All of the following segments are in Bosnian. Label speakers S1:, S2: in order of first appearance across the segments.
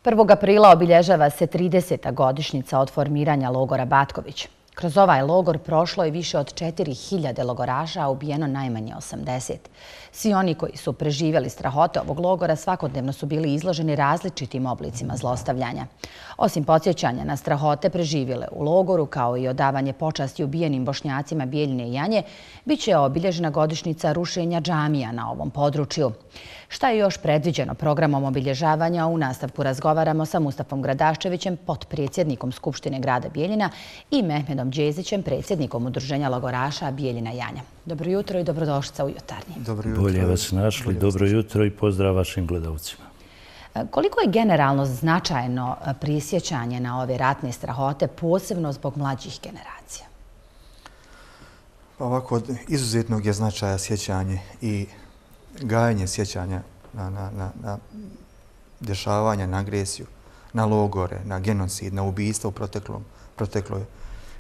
S1: 1. aprila obilježava se 30. godišnjica od formiranja logora Batković. Kroz ovaj logor prošlo je više od 4000 logoraša, a ubijeno najmanje 80. Svi oni koji su preživjeli strahote ovog logora svakodnevno su bili izloženi različitim oblicima zlostavljanja. Osim podsjećanja na strahote preživjele u logoru, kao i odavanje počasti ubijenim Bošnjacima Bijeljine i Janje, bit će obilježena godišnjica rušenja džamija na ovom području. Šta je još predviđeno programom obilježavanja? U nastavku razgovaramo sa Mustafom Gradaščevićem, potpredsjednikom Skupštine grada Bijeljina, i Mehmedom Đezićem, predsjednikom Udruženja logoraša Bijeljina i Janja. Dobro jutro i dobrodošlica u Jutarnji.
S2: Bolje vas našli, dobro jutro i pozdrav vašim gledalcima.
S1: Koliko je generalno značajno prisjećanje na ove ratne strahote, posebno zbog mlađih generacija?
S3: Ovako, od izuzetnog je značaja sjećanje i gajanje sjećanja na dešavanja, na agresiju, na logore, na genocid, na ubijstvo u protekloj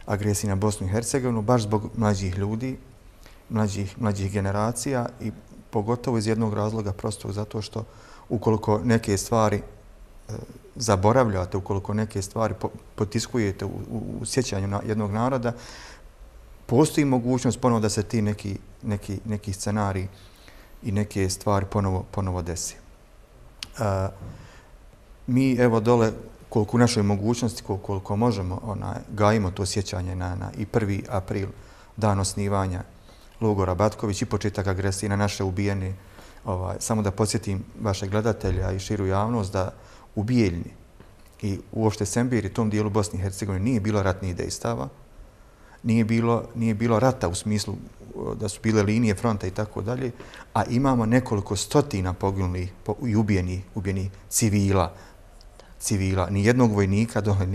S3: agresiji na Bosnu i Hercegovinu, baš zbog mlađih ljudi, mlađih generacija i pogotovo iz jednog razloga, prosto zato što ukoliko neke stvari zaboravljate, ukoliko neke stvari potiskujete u sjećanju na jednog naroda, postoji mogućnost ponovo da se ti neki scenariji i neke stvari ponovo desi. Mi evo dole, koliko u našoj mogućnosti, koliko možemo, gajimo to sjećanje na i 1. april, dan osnivanja logora Batković i početak agresije na naše ubijene. Samo da podsjetim vaše gledatelja i širu javnost da u Bijeljini i uopšte Sembir i tom dijelu Bosne i Hercegovine nije bilo ratnih dejstava, nije bilo rata u smislu da su bile linije fronta i tako dalje, a imamo nekoliko stotina poginulih i ubijenih civila. Nijednog vojnika dole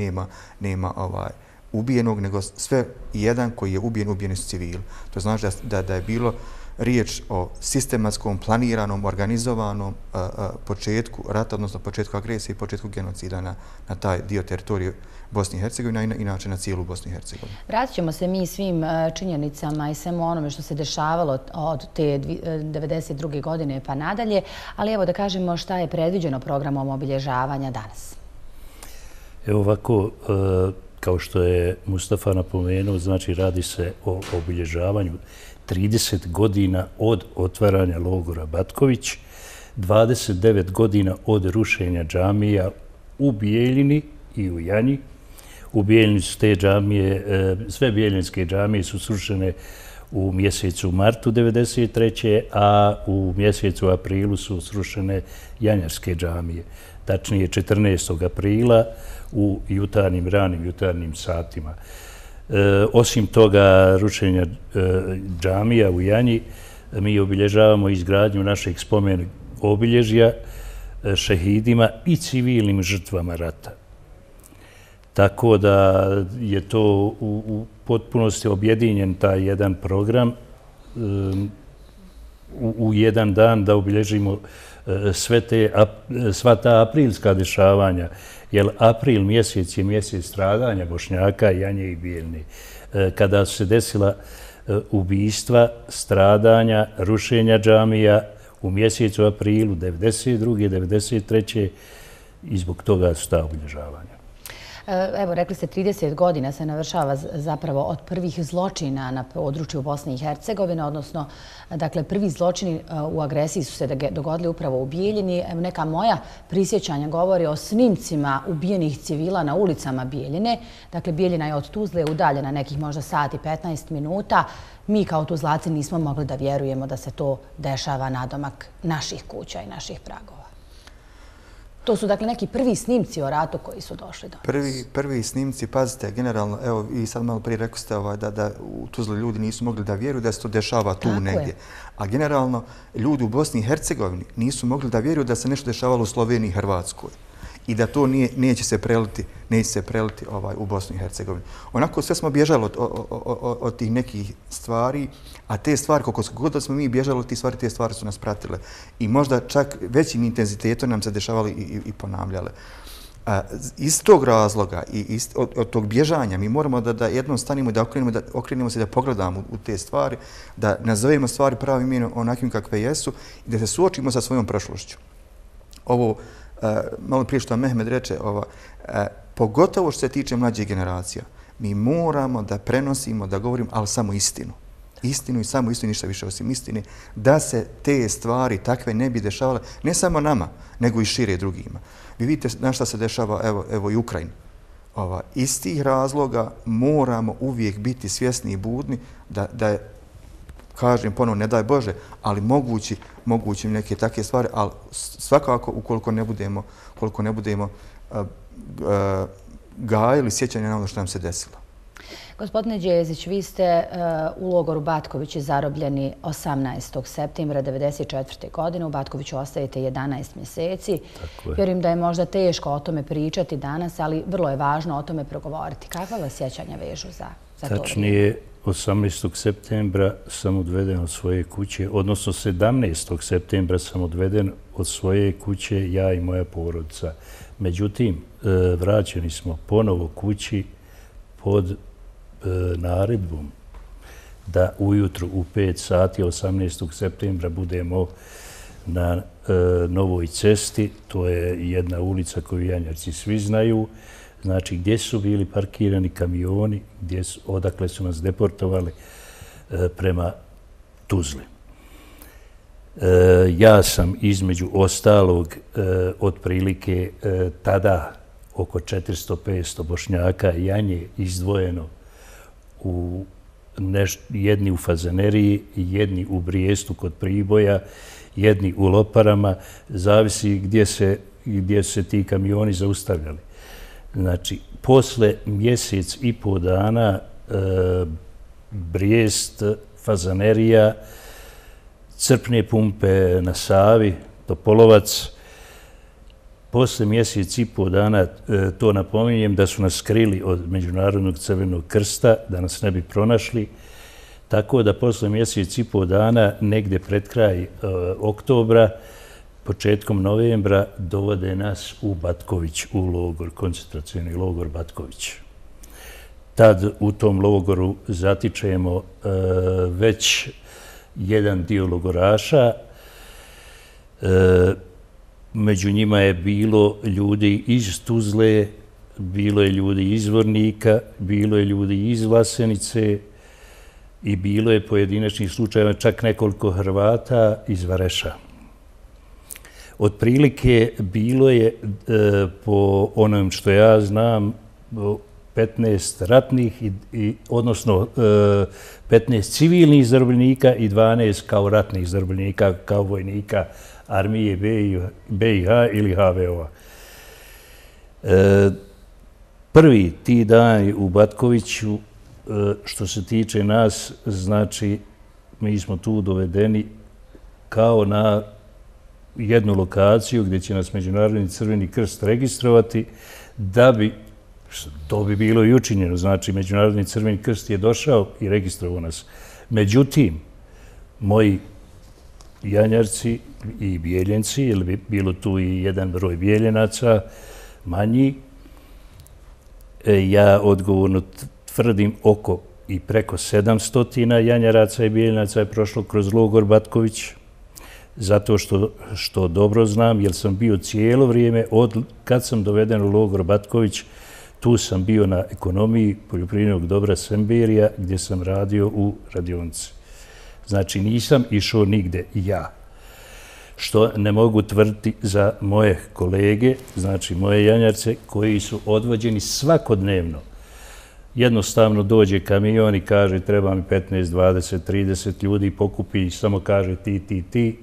S3: nema ubijenog, nego sve jedan koji je ubijeni su civili. To znači da je bilo riječ o sistematskom, planiranom, organizovanom početku rata, odnosno početku agresije i početku genocida na taj dio teritorije Bosne i Hercegovine, a inače na cijelu Bosnu i Hercegovinu.
S1: Vratit ćemo se mi svim činjenicama i svemu onome što se dešavalo od te 1992. godine pa nadalje, ali evo da kažemo šta je predviđeno programom obilježavanja danas.
S2: Evo ovako, kao što je Mustafa napomenuo, znači radi se o obilježavanju 30 godina od otvaranja logora Batković, 29 godina od rušenja džamija u Bijeljini i u Janji. U Bijeljini su te džamije, sve bijeljinske džamije su srušene u mjesecu martu 1993. a u mjesecu aprilu su srušene janjarske džamije. Tačnije 14. aprila u ranim jutarnjim satima. Osim toga rušenja džamija u Janji, mi obilježavamo izgradnju našeg spomen obilježja šehidima i civilnim žrtvama rata. Tako da je to u potpunosti objedinjen taj jedan program u jedan dan da obilježimo sva ta aprilska dešavanja, jer april mjesec je mjesec stradanja Bošnjaka, Janje i Bijeljine. Kada su se desila ubijstva, stradanja, rušenja džamija u mjesecu aprilu 1992. 1993. i zbog toga su ta obilježavanja.
S1: Evo, rekli ste 30 godina se navršava zapravo od prvih zločina na području Bosne i Hercegovine, odnosno, dakle, prvi zločini u agresiji su se dogodili upravo u Bijeljini. Neka moja prisjećanja govori o snimcima ubijenih civila na ulicama Bijeljine. Dakle, Bijeljina je od Tuzle udaljena nekih možda sat i 15 minuta. Mi kao Tuzlaci nismo mogli da vjerujemo da se to dešava nadomak naših kuća i naših pragova. To su dakle neki prvi snimci o ratu koji su došli do nas.
S3: Prvi snimci, pazite, generalno, evo i sad malo prije rekli ste da u Tuzli ljudi nisu mogli da vjeruju da se to dešava tu negdje. A generalno ljudi u Bosni i Hercegovini nisu mogli da vjeruju da se nešto dešavalo u Sloveniji i Hrvatskoj i da to neće se preliti u Bosnu i Hercegovini. Onako sve smo bježali od tih nekih stvari, a te stvari, koliko god smo mi bježali od tih stvari, te stvari su nas pratile. I možda čak većim intenzitetom nam se dešavali i ponavljale. Iz tog razloga i od tog bježanja mi moramo da jednom stanimo i da okrenemo se da pogledamo u te stvari, da nazovemo stvari pravim imenom onakvim kakve jesu i da se suočimo sa svojom prošlošću. Ovo malo prije što Mehmed reče, pogotovo što se tiče mlađih generacija, mi moramo da prenosimo, da govorimo, ali samo istinu. Istinu i samo istinu, ništa više osim istine, da se te stvari takve ne bi dešavale, ne samo nama, nego i šire drugima. Vi vidite na šta se dešava, evo i Ukrajina. Iz tih razloga moramo uvijek biti svjesni i budni da je, kažem ponovno, ne daj Bože, ali mogući neke takve stvari, ali svakako ukoliko ne budemo gajili sjećanje na ono što nam se desilo.
S1: Gospodine Đezić, vi ste u logoru Batkovići zarobljeni 18. septembra 1994. godine. U Batkoviću ostajete 11 mjeseci. Vjerujem da je možda teško o tome pričati danas, ali vrlo je važno o tome progovoriti. Kakva vas sjećanja vežu za to?
S2: Tačnije, 18. septembra sam odveden od svoje kuće, odnosno 17. septembra sam odveden od svoje kuće, ja i moja porodica. Međutim, vraćeni smo ponovo kući pod naredbom da ujutru u 5 sati 18. septembra budemo na Novoj cesti. To je jedna ulica koju Janjarci svi znaju. Znači, gdje su bili parkirani kamioni, odakle su nas deportovali prema Tuzli. Ja sam između ostalog otprilike tada oko 400-500 Bošnjaka Janje izdvojeno jedni u Fazaneriji, jedni u Brijestu kod Priboja, jedni u Loparama, zavisi gdje se ti kamioni zaustavljali. Znači, posle mjesec i po dana Brijest, Fazanerija, crpne pumpe na Savi, Topolovac. Posle mjesec i po dana, to napominjem, da su nas skrili od Međunarodnog crvenog krsta, da nas ne bi pronašli. Tako da posle mjesec i po dana, negde pred kraj oktobra, početkom novembra, dovode nas u Batković, u logor, koncentracioni logor Batković. Tad u tom logoru zatičemo već jedan dio logoraša. Među njima je bilo ljudi iz Tuzle, bilo je ljudi iz Vornika, bilo je ljudi iz Vlasenice i bilo je pojedinačnih slučajeva čak nekoliko Hrvata iz Vareša. Otprilike bilo je, po onom što ja znam, 15 ratnih, odnosno 15 civilnih zarobljenika i 12 kao ratnih zarobljenika, kao vojnika armije BiH ili HVO-a. Prvi ti dani u Batkoviću, što se tiče nas, znači mi smo tu dovedeni kao na jednu lokaciju gdje će nas Međunarodni crveni krst registrovati, da bi, to bi bilo i učinjeno, znači Međunarodni crveni krst je došao i registrovao nas. Međutim, moji Janjarci i Bijeljenci, jer bi bilo tu i jedan broj Bijeljenaca, manji, ja odgovorno tvrdim oko i preko 700 Janjaraca i Bijeljenaca je prošlo kroz logor Batković, zato što dobro znam, jer sam bio cijelo vrijeme, kad sam doveden u logor Batković, tu sam bio na ekonomiji poljoprivrednog dobra Semberija, gdje sam radio u radionici. Znači, nisam išao nigde ja. Što ne mogu tvrditi za moje kolege, znači moje Janjarce, koji su odvođeni svakodnevno. Jednostavno dođe kamion i kaže treba mi 15, 20, 30 ljudi, pokupi i samo kaže ti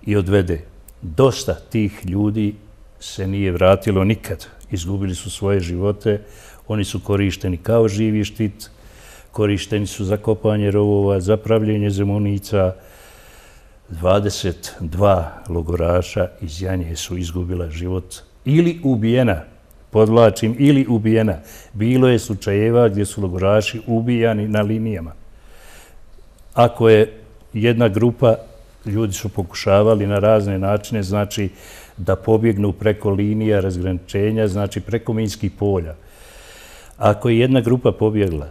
S2: i odvede. Dosta tih ljudi se nije vratilo nikad. Izgubili su svoje živote, oni su korišteni kao živi štit, korišteni su za kopanje rovova, za pravljenje zemunica. 22 logoraša iz Janje su izgubila život ili ubijena, podvlačim, ili ubijena. Bilo je slučajeva gdje su logoraši ubijani na linijama. Ako je jedna grupa, ljudi su pokušavali na razne načine, znači da pobjegnu preko linija razgraničenja, znači preko minskih polja. Ako je jedna grupa pobjegla,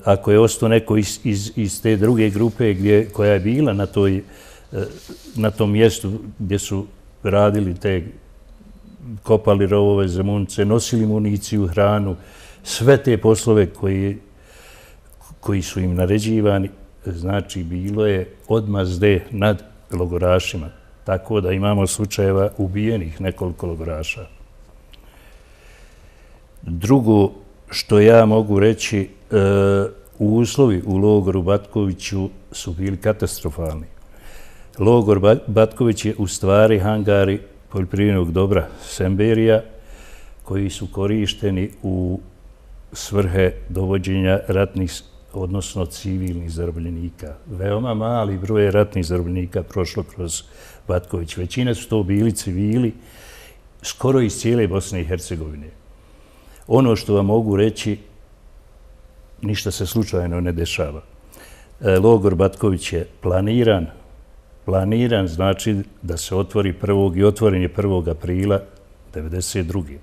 S2: ako je ostao neko iz te druge grupe koja je bila na tom mjestu gdje su radili te kopali rovove za munice, nosili municiju, hranu, sve te poslove koji su im naređivani, znači bilo je odmazde nad logorašima. Tako da imamo slučajeva ubijenih nekoliko logoraša. Drugo što ja mogu reći, uslovi u logoru Batkoviću su bili katastrofalni. Logor Batković je u stvari hangari poljoprivrednog dobra Semberija koji su korišteni u svrhe dovođenja ratnih, odnosno civilnih zarobljenika. Veoma mali broj ratnih zarobljenika prošlo kroz Batković. Većina su to bili civili, skoro iz cijele Bosne i Hercegovine. Ono što vam mogu reći, ništa se slučajno ne dešava. Logor Batković je planiran znači da se otvori i otvoren je 1. aprila 1992.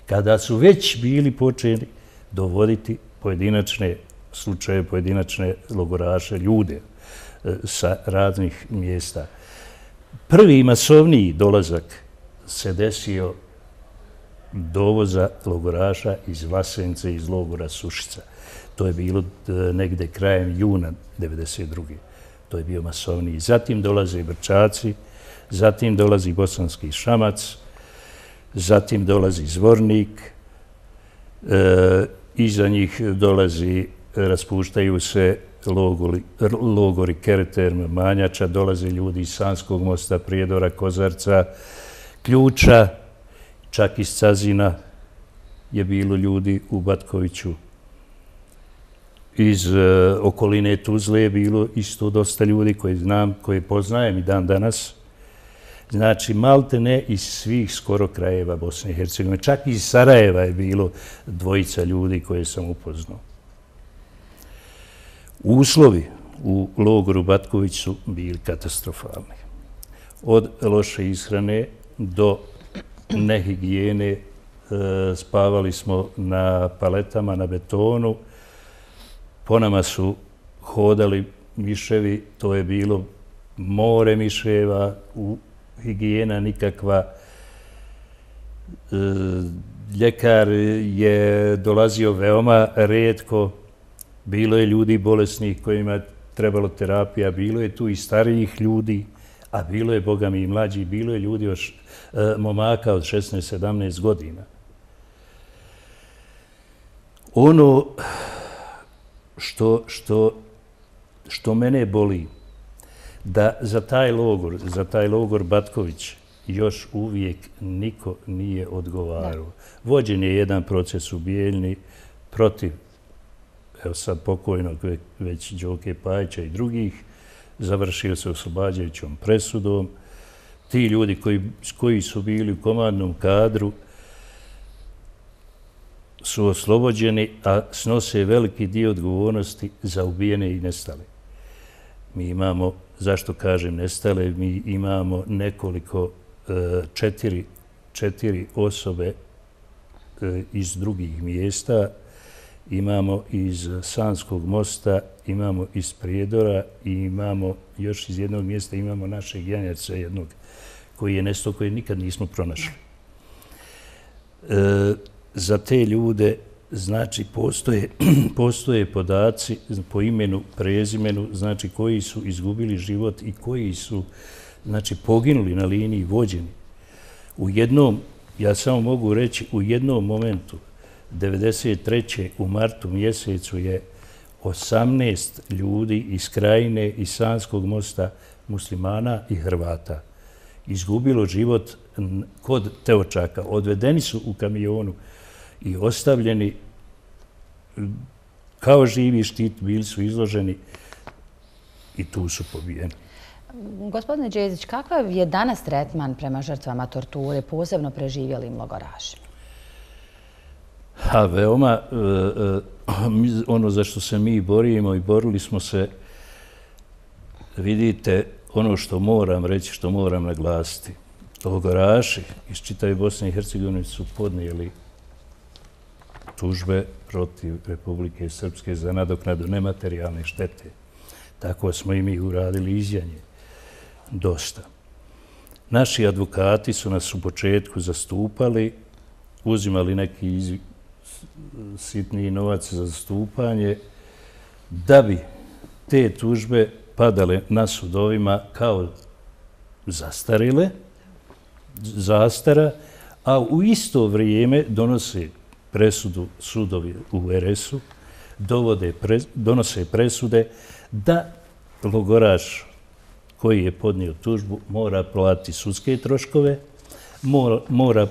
S2: Kada su već bili počeli dovoditi pojedinačne slučaje, pojedinačne logoraše, ljude sa raznih mjesta. Prvi masovniji dolazak se desio dovoza logoraša iz Vlasence, iz logora Sušica. To je bilo negde krajem juna 1992. To je bio masovniji. Zatim dolaze Brčaci, zatim dolazi Bosanski Šamac, zatim dolazi Zvornik, iza njih raspuštaju se logori Kereterm, Manjača, dolaze ljudi iz Sanskog mosta, Prijedora, Kozarca, Ključa, čak iz Cazina je bilo ljudi u Batkoviću. Iz okoline Tuzle je bilo isto dosta ljudi koje poznajem i dan danas. Znači, malte ne iz svih skoro krajeva Bosne i Hercegovine. Čak iz Sarajeva je bilo 2 ljudi koje sam upoznao. Uslovi u logoru Batković su bili katastrofalni. Od loše ishrane do nehigijene, spavali smo na paletama, na betonu, po nama su hodali miševi, to je bilo more miševa, higijena nikakva. Ljekar je dolazio veoma rijetko, bilo je ljudi bolesnih kojima je trebalo terapija, bilo je tu i starijih ljudi, a bilo je, boga mi, i mlađi, bilo je ljudi, momaka od 16-17 godina. Ono što mene boli, da za taj logor Batković još uvijek niko nije odgovarao. Vođen je jedan proces u Bijeljni protiv, evo sad pokojnog već Đoke Pajića i drugih, završio se oslobađajućom presudom. Ti ljudi koji su bili u komandnom kadru su oslobođeni, a snose veliki dio odgovornosti za ubijene i nestale. Mi imamo, zašto kažem nestale, mi imamo nekoliko, 4 osobe iz drugih mjesta, imamo iz Sanskog mosta, imamo iz Prijedora i imamo još iz jednog mjesta, imamo našeg Janjarca jednog koji je nestao, koji nikad nismo pronašli. Za te ljude, znači, postoje podaci po imenu, prezimenu, znači, koji su izgubili život i koji su, znači, poginuli na liniji vođeni. U jednom, ja samo mogu reći, u jednom momentu, 1993. u martu mjesecu je 18 ljudi iz Krajine, iz Sanskog mosta, muslimana i Hrvata izgubilo život kod Teočaka. Odvedeni su u kamionu i ostavljeni kao živi štit, bili su izloženi i tu su pobijeni.
S1: Gospodine Đezić, kakav je danas tretman prema žrtvama torture, posebno preživjelim logorašima?
S2: Veoma, ono za što se mi borimo i borili smo se, vidite, ono što moram reći, što moram naglasiti. Logoraši iz čitave Bosne i Hercegovine su podnijeli tužbe protiv Republike Srpske za nadoknadu nematerijalne štete. Tako smo i mi uradili izjanje. Dosta. Naši advokati su nas u početku zastupali, uzimali neki sitniji novac za zastupanje, da bi te tužbe padale na sudovima kao zastara, a u isto vrijeme donose presudu sudovi u RS-u, donose presude da logoraš koji je podnio tužbu mora platiti sudske troškove, mora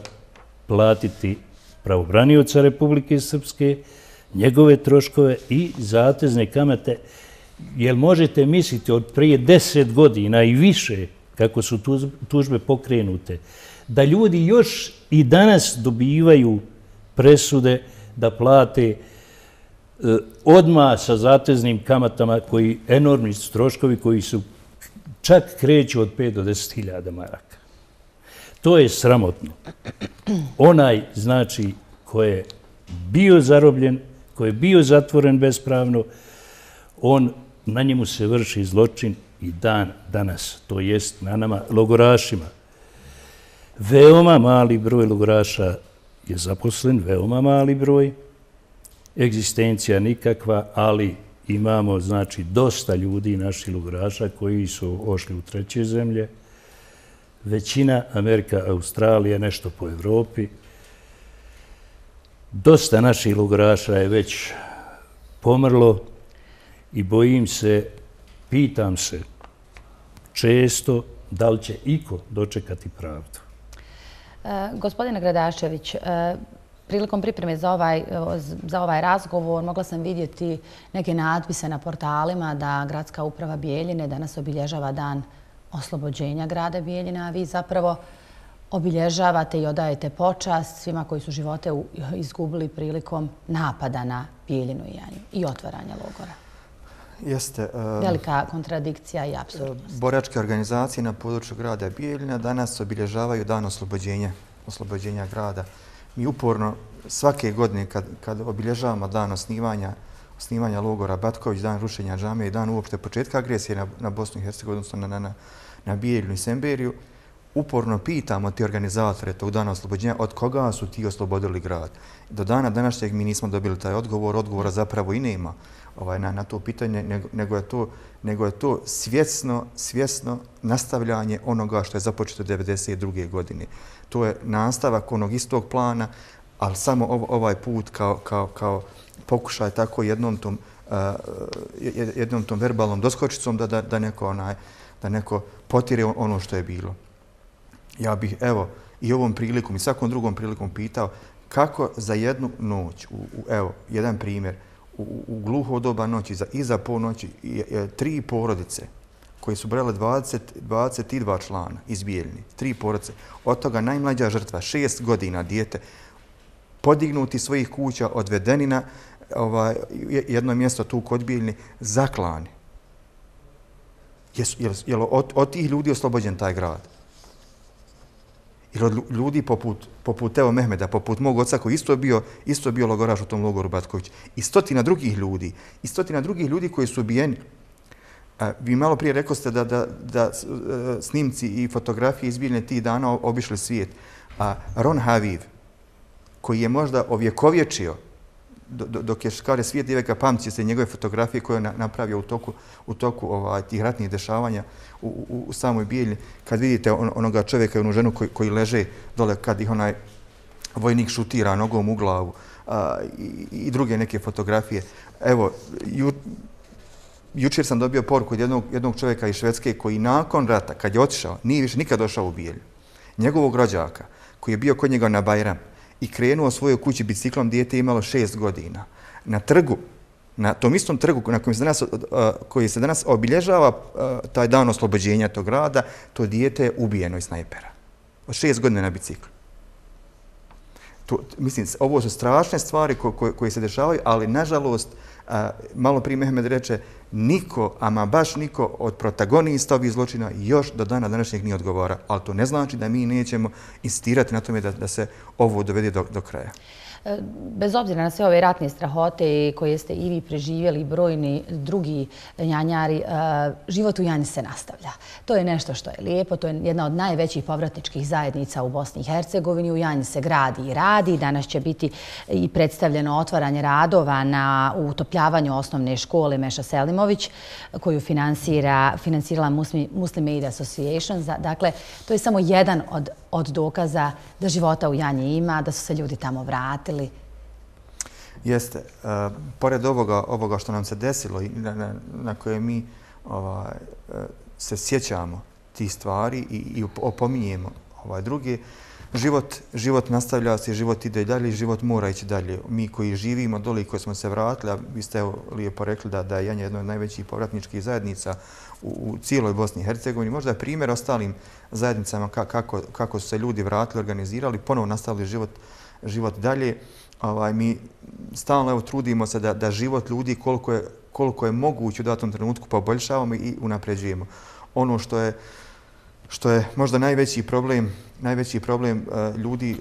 S2: platiti pravobranioca Republike Srpske, njegove troškove i zatezne kamate. Jel možete misliti od prije 10 godina i više, kako su tužbe pokrenute, da ljudi još i danas dobivaju presude da plate odmah sa zateznim kamatama, koji enormni troškovi koji su čak kreću od 5 do 10.000 maraka. To je sramotno. Onaj, znači, ko je bio zarobljen, ko je bio zatvoren bespravno, na njemu se vrši zločin i dan danas, to jest na nama logorašima. Veoma mali broj logoraša je zaposlen, veoma mali broj, egzistencija nikakva, ali imamo, znači, dosta ljudi, naših logoraša, koji su ošli u treće zemlje. Većina Amerika, Australija, nešto po Evropi. Dosta naših logoraša je već pomrlo i bojim se, pitam se često da li će iko dočekati pravdu.
S1: Gospodine Gradašević, prilikom pripreme za ovaj razgovor mogla sam vidjeti neke natpise na portalima da Gradska uprava Bijeljine danas obilježava dan oslobođenja grada Bijeljina, a vi zapravo obilježavate i odajete počast svima koji su živote izgubili prilikom napada na Bijeljinu i otvaranja logora.
S3: Jeste.
S1: Velika kontradikcija i apsurdnost.
S3: Boračke organizacije na području grada Bijeljina danas obilježavaju dan oslobođenja grada. Mi uporno svake godine kad obilježavamo dan osnivanja logora Batković, dan rušenja džamije i dan uopšte početka agresije na Bosnu i Hercegovinu, odnosno na Bijeljinu i Semberiju, uporno pitamo ti organizatore tog dana oslobođenja od koga su ti oslobodili grad. Do dana današnjeg mi nismo dobili taj odgovor, odgovora zapravo i nema na to pitanje, nego je to svjesno nastavljanje onoga što je započeto 1992. godine. To je nastavak onog istog plana, ali samo ovaj put kao pokušaj tako jednom tom verbalnom doskočicom da neko potire ono što je bilo. Ja bih, evo, i ovom prilikom i svakom drugom prilikom pitao kako za jednu noć, evo, jedan primjer, u gluho doba noći, iza ponoći, 3 porodice koje su brale 22 člana iz Bijeljine, 3 porodice, od toga najmlađa žrtva, 6 godina dijete, podignuti svojih kuća, odvedeni na jedno mjesto tu kod Bijeljine, zaklani. Je li od tih ljudi oslobođen taj grad? Jer od ljudi poput Evo Mehmeda, poput mog oca koji isto bio logoraš u tom logoru Batković, i stotina drugih ljudi koji su ubijeni. Vi malo prije rekli ste da snimci i fotografije iz Bijeljine tih dana obišli svijet. Ron Haviv, koji je možda ovjekovječio, dok je škare svijet i veka pamći se njegove fotografije koje je napravio u toku tih ratnih dešavanja u samoj Bijeljini, kad vidite onoga čovjeka i onu ženu koji leže dole, kad ih onaj vojnik šutira nogom u glavu i druge neke fotografije. Evo, jučer sam dobio poruku od jednog čovjeka iz Švedske koji nakon rata, kad je otišao, nije više nikad došao u Bijeljinu, njegovog rođaka koji je bio kod njega na Bajram i krenuo svojoj kući biciklom, dijete imalo 6 godina. Na trgu, na tom istom trgu na koji se danas obilježava taj dan oslobođenja tog grada, to dijete je ubijeno iz snajpera. Od 6 godina na biciklu. Mislim, ovo su strašne stvari koje se dešavaju, ali nažalost Malo prije Mehmed reče, niko, ama baš niko od protagonista ovih zločina još do dana današnjeg nije odgovara. Ali to ne znači da mi nećemo insistirati na tome da se ovo dovede do kraja.
S1: Bez obzira na sve ove ratne strahote koje ste i vi preživjeli, brojni drugi janjari, život u Janji se nastavlja. To je nešto što je lijepo, to je jedna od najvećih povratničkih zajednica u Bosni i Hercegovini. U Janji se gradi i radi. Danas će biti i predstavljeno otvaranje radova na utopljavanju osnovne škole Meša Selimović, koju finansirala Muslim Aid Association. Dakle, to je samo jedan od dokaza da života u Janji ima, da su se ljudi tamo vratili.
S3: Jeste. Pored ovoga što nam se desilo i na koje mi se sjećamo tih stvari i opominjemo druge, život nastavlja se, život ide dalje i život mora ići dalje. Mi koji živimo dole i koji smo se vratili, a vi ste lijepo rekli da je Janja jedna od najvećih povratničkih zajednica u cijeloj Bosni i Hercegovini. Možda je primjer ostalim zajednicama kako su se ljudi vratili, organizirali, ponovo nastavili život dalje. Mi stalno trudimo se da život ljudi koliko je moguće u datom trenutku poboljšavamo i unapređujemo. Ono što je možda najveći problem ljudi,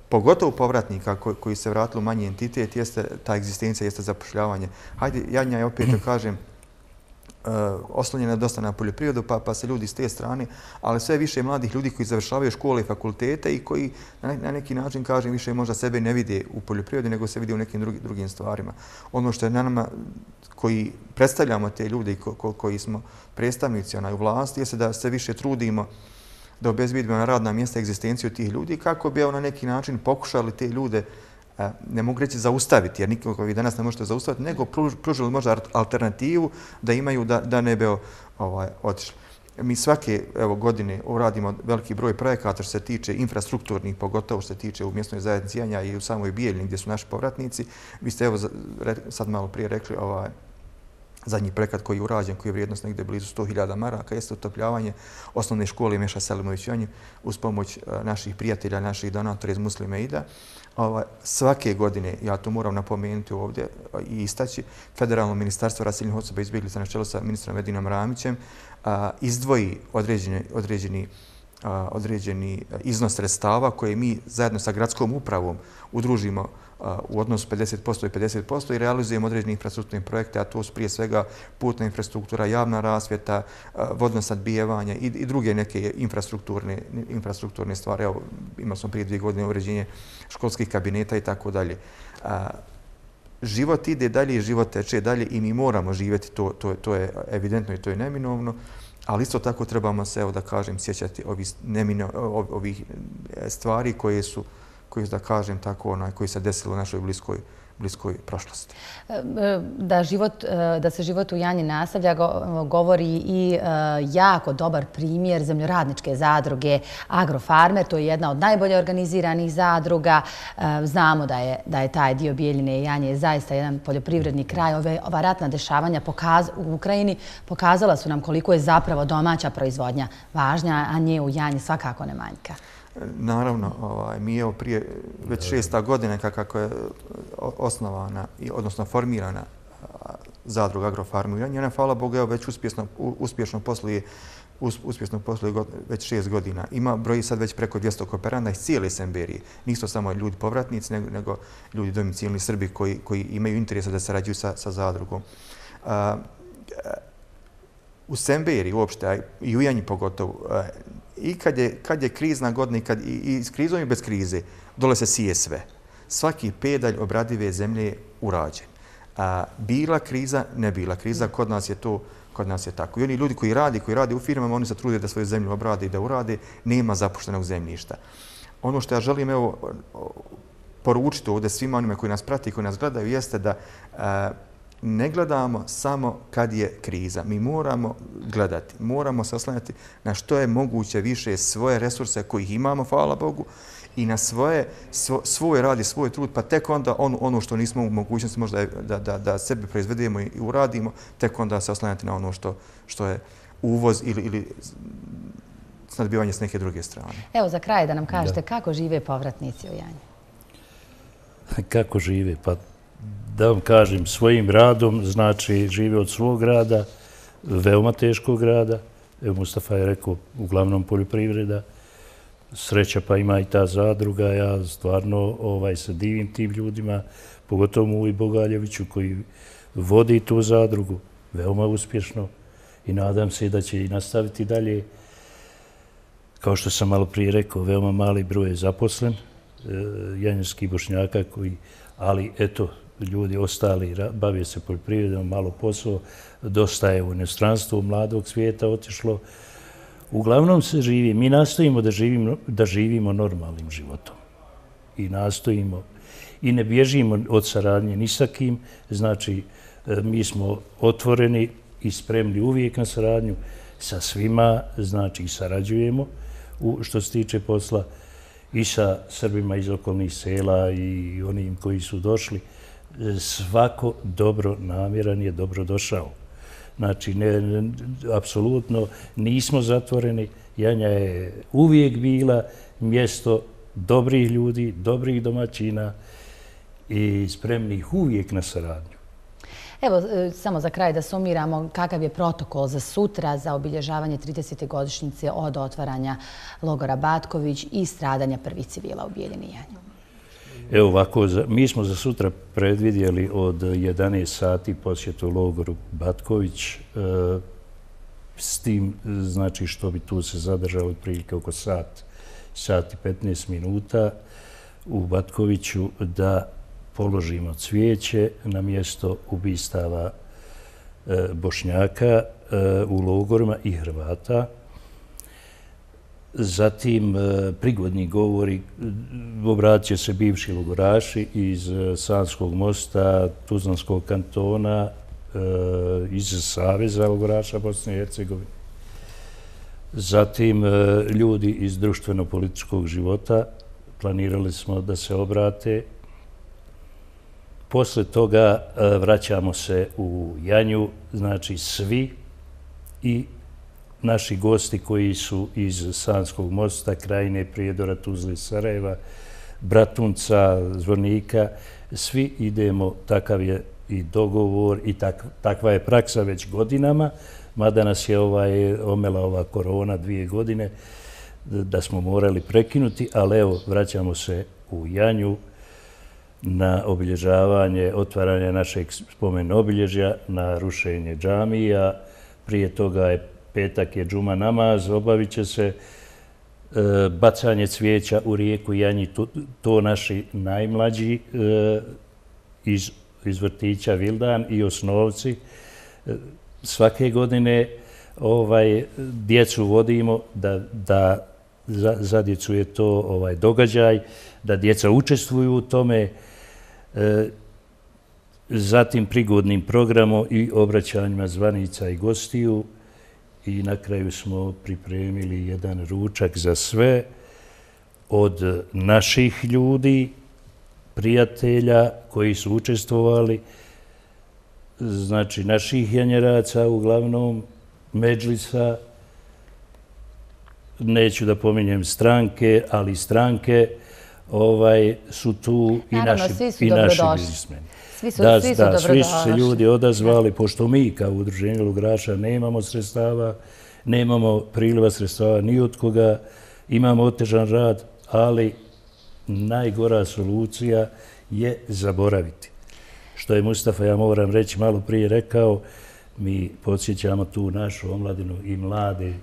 S3: pogotovo povratnika koji se vratili u manji entitet, jeste ta egzistencija, jeste zapošljavanje. Hajde, Janja je opet da kažem, oslonjena dosta na poljoprivredu, pa se ljudi s te strane, ali sve više mladih ljudi koji završavaju škole i fakultete i koji na neki način, kažem, više možda sebe ne vide u poljoprivredi, nego se vide u nekim drugim stvarima. Ono što je na nama koji predstavljamo te ljude i koji smo predstavnici u vlasti, je da se više trudimo da obezbedimo na radna mjesta egzistenciju tih ljudi kako bi na neki način pokušali te ljude, ne mogu reći zaustaviti, jer nikoga vi danas ne možete zaustaviti, nego pružili možda alternativu da imaju da ne bi otišli. Mi svake godine uradimo veliki broj projekata što se tiče infrastrukturnih, pogotovo što se tiče u mjesnoj zajednici Janja i u samoj Bijeljini gdje su naši povratnici. Vi ste sad malo prije rekli zadnji projekat koji je urađen, koji je vrijednost negdje blizu 100.000 maraka, jeste utopljavanje osnovne škole Meša Selimović u Janji uz pomoć naših prijatelja, naših donatora iz Muslim Aida. Svake godine, ja to moram napomenuti ovdje i istaći, Federalno ministarstvo raseljenih osoba i izbjeglica na čelu sa ministrom Edinom Ramićem izdvoji određeni iznos sredstava koje mi zajedno sa gradskom upravom udružimo u odnosu 50% i 50% i realizujemo određene infrastrukturne projekte, a to su prije svega putna infrastruktura, javna rasvjeta, vodno snabdijevanje i druge neke infrastrukturne stvari. Evo, imali smo prije 2 godine uređenje školskih kabineta i tako dalje. Život ide dalje i život teče dalje i mi moramo živjeti, to je evidentno i to je neminovno, ali isto tako trebamo se, da kažem, sjećati ovih stvari koje su, da kažem tako, koji se desilo u našoj bliskoj prošlosti.
S1: Da se život u Janji nastavlja govori i jako dobar primjer zemljoradničke zadruge Agrofarmer. To je jedna od najbolje organiziranih zadruga. Znamo da je taj dio Bijeljine i Janje zaista jedan poljoprivredni kraj. Ova ratna dešavanja u Ukrajini pokazala su nam koliko je zapravo domaća proizvodnja važna, a nje u Janji svakako ne manjka.
S3: Naravno, mi je prije već 6. godina kako je osnovana, odnosno formirana zadruga Agrofarmer u Janji. Ona, hvala Bogu, već uspješno posluje već 6 godina. Broji sad već preko 200 kooperanta iz cijele Semberije. Nisu samo ljudi povratnici, nego ljudi domicilni Srbi koji imaju interesa da sarađuju sa zadrugom. U Semberiji uopšte, i u Janji pogotovo, i kad je krizna godina i s krizom i bez krize, dole se sije sve. Svaki pedalj obradive zemlje je urađen. Bila kriza, ne bila kriza, kod nas je tako. I oni ljudi koji rade u firmama, oni se trude da svoju zemlju obrade i da urade, nema zapuštenog zemljišta. Ono što ja želim poručiti ovdje svima onima koji nas prati i koji nas gledaju jeste da ne gledamo samo kad je kriza. Mi moramo gledati, moramo se oslanjati na što je moguće više svoje resurse kojih imamo, hvala Bogu, i na svoj rad i svoj trud, pa tek onda ono što nismo u mogućnosti možda da sebe proizvedemo i uradimo, tek onda se oslanjati na ono što je uvoz ili snadbivanje s neke druge strane.
S1: Evo, za kraj da nam kažete kako žive povratnici u Janji.
S2: Kako žive? Pa da vam kažem, svojim radom, znači žive od svog rada, veoma teškog rada. Evo Mustafa je rekao, uglavnom poljoprivreda, sreća pa ima i ta zadruga. Ja stvarno se divim tim ljudima, pogotovo Muji Bogaljeviću koji vodi tu zadrugu, veoma uspješno i nadam se da će i nastaviti dalje. Kao što sam malo prije rekao, veoma mali broj je zaposlen, janjskih Bošnjaka koji, ali eto, ljudi ostali bave se poljoprivredom, malo posao, dosta je u inostranstvu mladog svijeta otišlo. Uglavnom se živi. Mi nastojimo da živimo normalnim životom. I nastojimo i ne bježimo od saradnje ni sa kim. Znači, mi smo otvoreni i spremni uvijek na saradnju sa svima, znači sarađujemo što se tiče posla i sa Srbima iz okolnih sela i onim koji su došli. Svako dobro namjeran je dobro došao. Znači, apsolutno nismo zatvoreni. Janja je uvijek bila mjesto dobrih ljudi, dobrih domaćina i spremnih uvijek na saradnju.
S1: Evo, samo za kraj da sumiramo kakav je protokol za sutra za obilježavanje 30. godišnjice od otvaranja logora Batković i stradanja prvih civila u Bijeljini Janju.
S2: Evo ovako, mi smo za sutra predvidjeli od 11 sati posjetu logoru Batković, s tim znači što bi tu se zadržalo otprilike oko sat i 15 minuta u Batkoviću da položimo cvijeće na mjesto ubistava Bošnjaka u logorima i Hrvata. Zatim prigodni govori, obratit će se bivši logoraši iz Sanskog mosta, Tuzlanskog kantona, iz Saveza logoraša Bosne i Hercegovine. Zatim ljudi iz društveno-političkog života, planirali smo da se obrate. Posle toga vraćamo se u Janju, znači svi i naši gosti koji su iz Sanskog mosta, Krajine, Prijedora, Tuzle, Sarajeva, Bratunca, Zvornika, svi idemo, takav je i dogovor i takva je praksa već godinama, mada nas je omela ova korona 2 godine, da smo morali prekinuti, ali evo, vraćamo se u Janju na obilježavanje, otvaranje našeg spomen obilježja, na rušenje džamija. Prije toga je petak je džuma namaz, obavit će se bacanje cvijeća u rijeku Janji, to naši najmlađi iz vrtića Vildan i osnovci. Svake godine djecu vodimo da za djecu je to događaj, da djeca učestvuju u tome, zatim prigodnim programom i obraćanjima zvanica i gostiju i na kraju smo pripremili jedan ručak za sve od naših ljudi, prijatelja koji su učestvovali, znači naših janjeraca, uglavnom medžlisa, neću da pominjem stranke, ali stranke su tu i naši biznismeni.
S1: Svi su dobrodošli.
S2: Svi su se ljudi odazvali, pošto mi kao udruženje logoraša nemamo sredstava, nemamo priliva sredstava ni od koga, imamo otežan rad, ali najgora solucija je zaboraviti. Što je Mustafa, ja moram reći, malo prije rekao, mi podsjećamo tu našu omladinu i mlade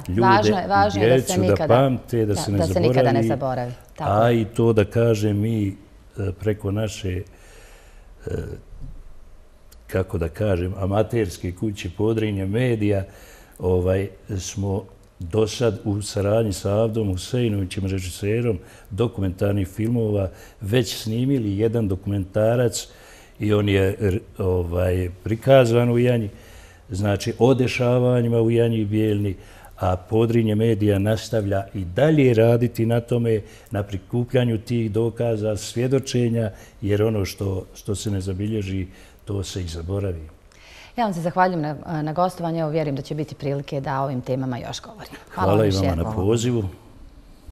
S2: ljude i djecu da pamte, da se ne zaboravi. A i to da kažem mi preko naše, kako da kažem, amaterske kuće Podrinje medija smo do sad u saradnji sa Avdom Huseinovićem, režiserom dokumentarnih filmova, već snimili jedan dokumentarac i on je prikazan u Janji, znači o dešavanjima u Janji i Bijeljni, a Podrinje medija nastavlja i dalje raditi na tome, na prikupljanju tih dokaza, svjedočenja, jer ono što se ne zabilježi, to se i zaboravi.
S1: Ja vam se zahvaljujem na gostovanju. Vjerujem da će biti prilike da o ovim temama još govorimo.
S2: Hvala i vama na pozivu.